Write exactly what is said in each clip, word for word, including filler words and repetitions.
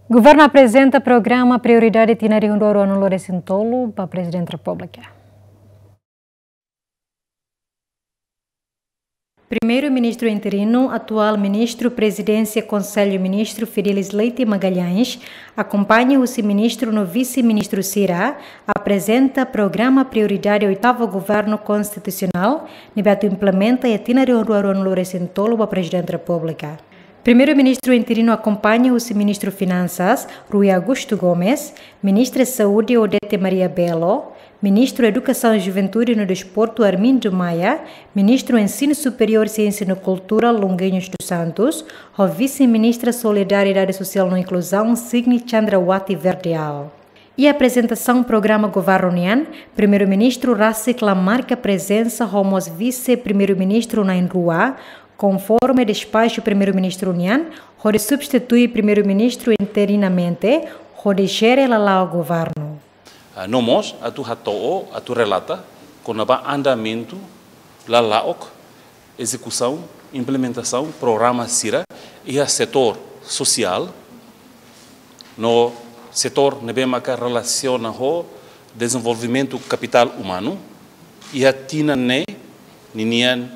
Governu aprezenta programa prioridade tinan rihun rua ruanulu-resin-tolu ba Prezidente Repúblika. Primeiru-Ministru interinu, atuál Ministru Prezidénsia Konsellu Ministru Fidelis Leite Magalhães, akompaña husi ministru no vise-ministru sira, aprezenta programa prioridade oitavu Governu Konstitusionál, ne'ebé atu implementa iha tinan rihun rua ruanulu-resin-tolu ba Prezidente Repúblika. Primeiru-Ministru interinu akompaña husi Ministru Finansas, Rui Augusto Gomes, Ministra Saúde, Odete Maria Belo, Ministru Edukasaun, Juventude no Desportu, Armindo Maia, Ministru Ensinu Superiór, Siénsia no Kultura, Longuinhos dos Santos, ho Vise-Ministra Solidariedade Sosiál no Inkluzaun, Sidney Chandrawati Verdial. Iha aprezentasaun programa governu nian, Primeiru-Ministru rasik la marka prezensa ho mós Vise-Primeiru-Ministru na'in-rua, konforme despaxu Primeiru-Ministru nian, hodi substitui Primeiru-Ministru interinamente, hodi jere lala'ok governu. Ah, no mós atu hato'o, atu relata kona-ba andamentu lala'ok ezekusaun, implementasaun programa sira iha setór sosiál, no setór ne'ebé maka relasiona ho dezenvolvimentu kapitál umanu, iha tinan ne'e ninian,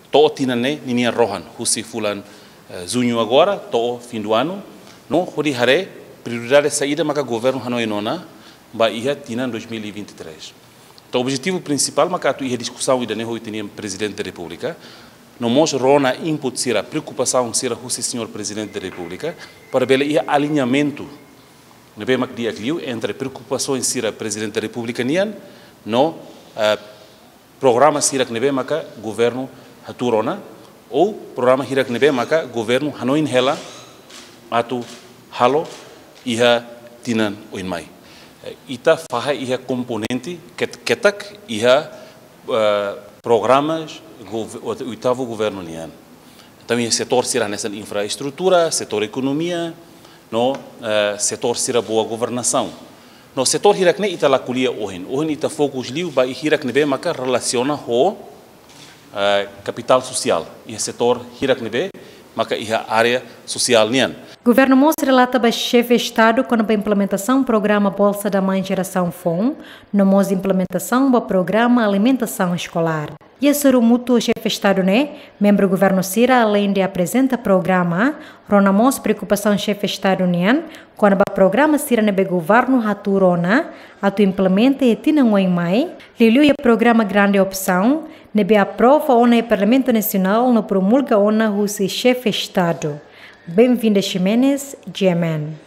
to'o tinan ne'e ninian rohan, husi fulan, eh, juñu agora to'o fim do ano, no hodi haree prioridade saida maka governu hanoin ona ba iha tinan dois mil e vinte e três. Entaun, objetivu prinsipál maka atu iha diskusaun ida-ne'e ho ita-nia Prezidente da Repúblika, no mós rona input sira, preokupasaun sira husi Señór Prezidente da Repúblika, para bele iha aliñamentu ne'ebé mak di'ak liu entre preokupasaun sira Prezidente da Repúblika nian no, eh, programa sira ne'ebé maka governu hatuur ona, ou programa hirak ne'ebé maka governu hanoin hela atu halo iha tinan oin mai. Eh, ita fahe iha komponente ket-, ketak iha, eh, programas gov-, oitavu governu nian. Entaun, iha setór sira hanesan infraestrutura, setór ekonomia, no, eh, setór sira boa governasaun. No setór hirak ne'e ita la ko'alia ohin. Ohin ita fokus liu ba hirak ne'ebé maka relasiona ho, eh, kapitál sosiál. Iha setór hirak ne'ebé maka iha área sosiál nian. Governu mós relata ba Xefe Estadu kona-ba implementasaun programa Bolsa da Mãe Jerasaun foun, no mós implementasaun ba programa alimentasaun eskolár. Iha hasoru mútuu ho Xefe Estadu ne'e, membru governu sira aleinde aprezenta programa, rona mós preokupasaun Xefe Estadu nian kona-ba programa sira ne'ebé governu hatuur ona atu implementa iha tinan oin mai, liuliu iha programa Grande Opção, ne'ebé aprova ona iha Parlamentu Nasionál no promulga ona husi Xefe Estadu. Benvinda Ximenes, G M N.